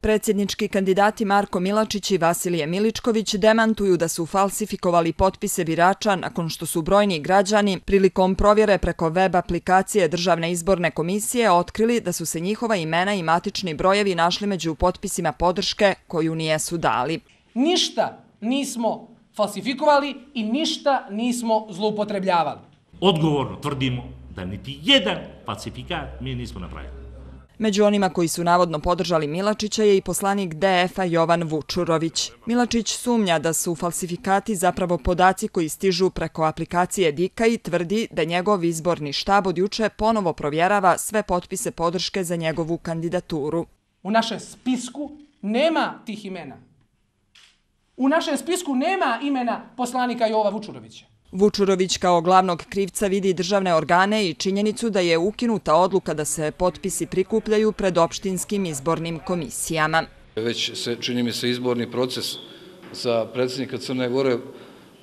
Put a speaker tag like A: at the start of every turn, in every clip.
A: Predsjednički kandidati Marko Milačić i Vasilije Miličković demantuju da su falsifikovali potpise birača nakon što su brojni građani prilikom provjere preko web aplikacije Državne izborne komisije otkrili da su se njihova imena i matični brojevi našli među potpisima podrške koju nijesu dali.
B: Ništa nismo falsifikovali i ništa nismo zloupotrebljavali.
C: Odgovorno tvrdimo da niti jedan falsifikat mi nismo napravili.
A: Među onima koji su navodno podržali Milačića je i poslanik DF-a Jovan Vučurović. Milačić sumnja da su falsifikati zapravo podaci koji stižu preko aplikacije Dika i tvrdi da njegov izborni štab od juče ponovo provjerava sve potpise podrške za njegovu kandidaturu.
B: U našem spisku nema tih imena. U našem spisku nema imena poslanika Jova Vučurovića.
A: Vučurović kao glavnog krivca vidi državne organe i činjenicu da je ukinuta odluka da se potpisi prikupljaju pred opštinskim izbornim komisijama.
D: Već se, čini mi se, izborni proces za predsjednika Crne Gore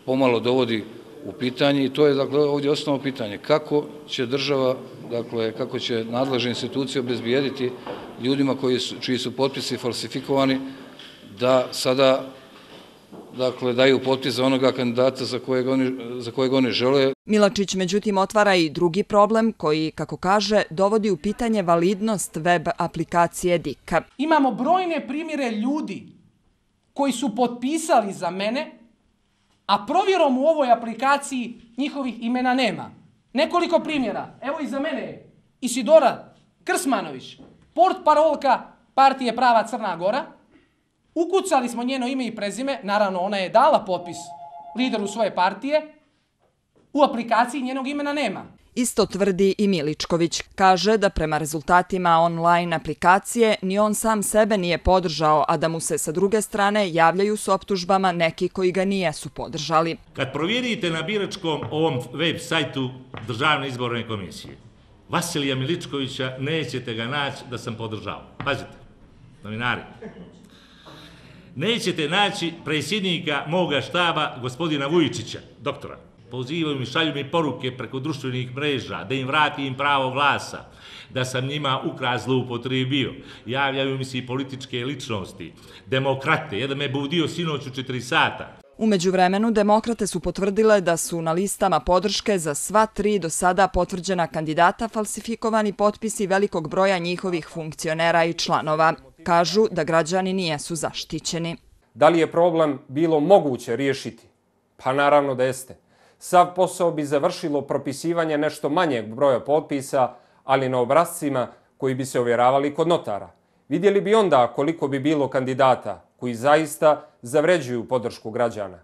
D: pomalo dovodi u pitanje i to je ovdje osnovno pitanje. Kako će država, kako će nadležne institucije obezbijediti ljudima čiji su potpisi falsifikovani da sada daju potpis za onoga kandidata za kojeg oni žele.
A: Milačić međutim otvara i drugi problem koji, kako kaže, dovodi u pitanje validnost web aplikacije Dika.
B: Imamo brojne primjere ljudi koji su potpisali za mene, a provjerom u ovoj aplikaciji njihovih imena nema. Nekoliko primjera. Evo iza mene je Isidora Krsmanović, portparolka partije Prava Crna Gora. Ukucali smo njeno ime i prezime, naravno ona je dala potpis lideru svoje partije, u aplikaciji njenog imena nema.
A: Isto tvrdi i Miličković. Kaže da prema rezultatima online aplikacije ni on sam sebe nije podržao, a da mu se sa druge strane javljaju s optužbama neki koji ga nijesu podržali.
C: Kad provjerite na biračkom ovom web sajtu Državne izborne komisije, Vasilija Miličkovića nećete ga naći da sam podržao. Pazite, novinari. Nećete naći predsjednika moga štaba, gospodina Vujičića, doktora. Pozivaju mi, šalju mi poruke preko društvenih mreža, da im vratim pravo glasa, da sam njima ukras zloupotrijebio. Javljaju mi se i političke ličnosti, demokrate, jedan me budio sinoć u 4 sata.
A: U međuvremenu, demokrate su potvrdile da su na listama podrške za sva 3 do sada potvrđena kandidata falsifikovani potpisi velikog broja njihovih funkcionera i članova. Kažu da građani nijesu zaštićeni.
E: Da li je problem bilo moguće riješiti? Pa naravno da jeste. Sav posao bi završilo propisivanje nešto manjeg broja potpisa, ali na obrascima koji bi se ovjeravali kod notara. Vidjeli bi onda koliko bi bilo kandidata koji zaista zavređuju podršku građana.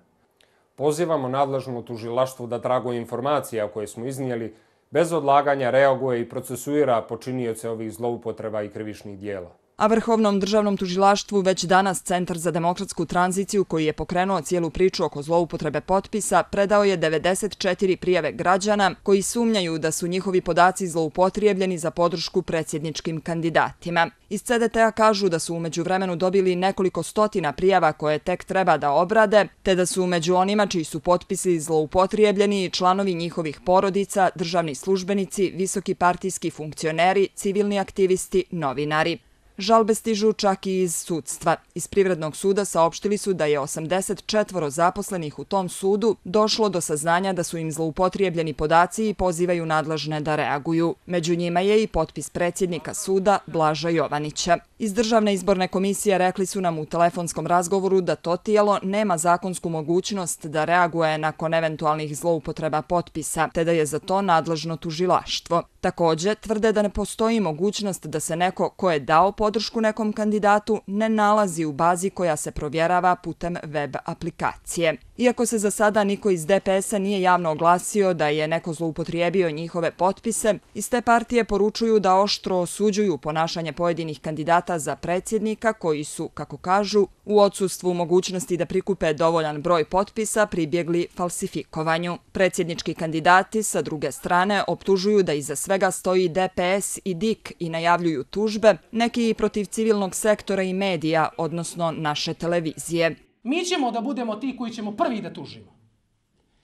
E: Pozivamo nadležno tužilaštvo da tragom informacija koje smo iznijeli bez odlaganja reaguje i procesuira počinioce ovih zloupotreba i krivičnih dijela.
A: A Vrhovnom državnom tužilaštvu već danas Centar za demokratsku tranziciju, koji je pokrenuo cijelu priču oko zloupotrebe potpisa, predao je 94 prijave građana koji sumnjaju da su njihovi podaci zloupotrijebljeni za podršku predsjedničkim kandidatima. Iz CDT-a kažu da su u međuvremenu dobili nekoliko stotina prijava koje tek treba da obrade, te da su među onima čiji su potpisi zloupotrijebljeni članovi njihovih porodica, državni službenici, visoki partijski funkcioneri, civilni aktivisti, novinari. Žalbe stižu čak i iz sudstva. Iz Privrednog suda saopštili su da je 84 zaposlenih u tom sudu došlo do saznanja da su im zloupotrijebljeni podaci i pozivaju nadležne da reaguju. Među njima je i potpis predsjednika suda Blaža Jovanića. Iz Državne izborne komisije rekli su nam u telefonskom razgovoru da to tijelo nema zakonsku mogućnost da reaguje nakon eventualnih zloupotreba potpisa, te da je za to nadležno tužilaštvo. Također, tvrde da ne postoji mogućnost da se neko ko je dao podršku nekom kandidatu ne nalazi u bazi koja se provjerava putem web aplikacije. Iako se za sada niko iz DPS-a nije javno oglasio da je neko zloupotrijebio njihove potpise, iz te partije poručuju da oštro osuđuju ponašanje pojedinih kandidata za predsjednika koji su, kako kažu, u odsustvu mogućnosti da prikupe dovoljan broj potpisa pribjegli falsifikovanju. Predsjednički kandidati sa druge strane optužuju da iza svega stoji DPS i DIK i najavljuju tužbe, neki i protiv civilnog sektora i medija, odnosno naše televizije.
B: Mi ćemo da budemo ti koji ćemo prvi da tužimo.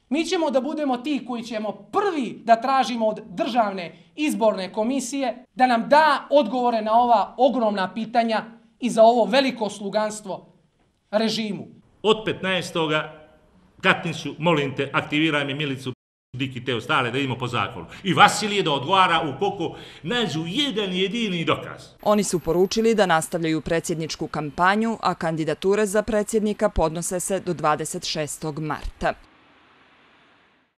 B: Mi ćemo da budemo ti koji ćemo prvi da tražimo od Državne izborne komisije da nam da odgovore na ova ogromna pitanja i za ovo veliko sluganstvo režimu.
C: Od 15. Katniću, molim te, aktiviraj mi milicu Diki te ostale da idemo po zakonu. I Vasilije da odgovara ukoliko nađu jedan jedini dokaz.
A: Oni su poručili da nastavljaju predsjedničku kampanju, a kandidature za predsjednika podnose se do 26. marta.